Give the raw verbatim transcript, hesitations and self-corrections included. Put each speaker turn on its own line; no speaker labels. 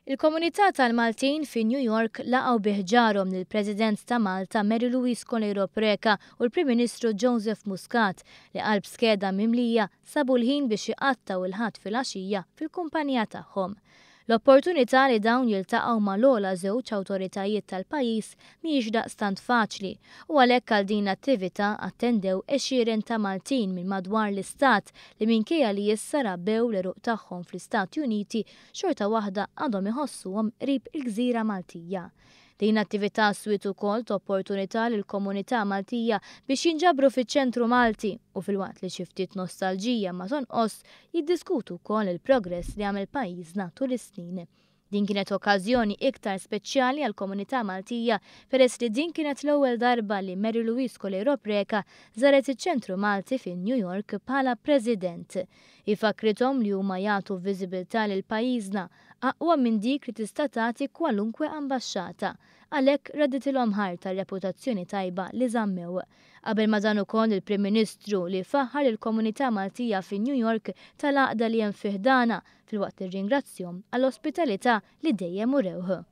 Il-komunità tal-Maltin fi New York laqgħu bi ħġarhom lill-President ta' Malta Mary Louise Coleiro Preca u l-Prim Ministru Joseph Muscat li qalb skeda mimlija sabu l-ħin biex iqattgħu il-Ħadd filgħaxija fil-kumpanija tagħhom. L-opportunità li dawn jiltaqgħu mal-ogħla żewġ awtoritajiet tal-pajjiż mhijiex daqstant faċli u għalhekk għal din l-attività attendew għexieren ta' Maltin minn madwar l-istat li minkejja li issa rabbew l-għeruq tagħhom fl-Istati Uniti xorta waħda għadhom iħossuhom qrib il-Gżira Maltija. Din l-attività swiet ukoll opportunità lill-komunità Maltija biex jinġabru fiċ-ċentru Malti u filwaqt li xi ftit nostalġija ma tonqos jiddiskutu wkoll il-progress li għamel pajjiżna tul is-snin. Din kienet okkażjoni iktar speċjali għall-komunità Maltija peress li din kienet l-ewwel darba li Mary Louise Coleiro Preca żaret iċ-ċentru Malti fi New York bħala President. Fakrithom li huma jagħtu viżibilità lil pajjiżna aqwa minn dik li tista' tagħti kwalunkwe ambaxxata. Għalhekk radditilhom ħajr tar-reputazzjoni tajba li żammew. Qabel ma dan ukoll il-Prim Ministru li faħħar il-komunità Maltija fi New York tal-għaqda li hemm fi ħdanha filwaqt li rringrazzjahom għall-ospitalità li dejjem urewh.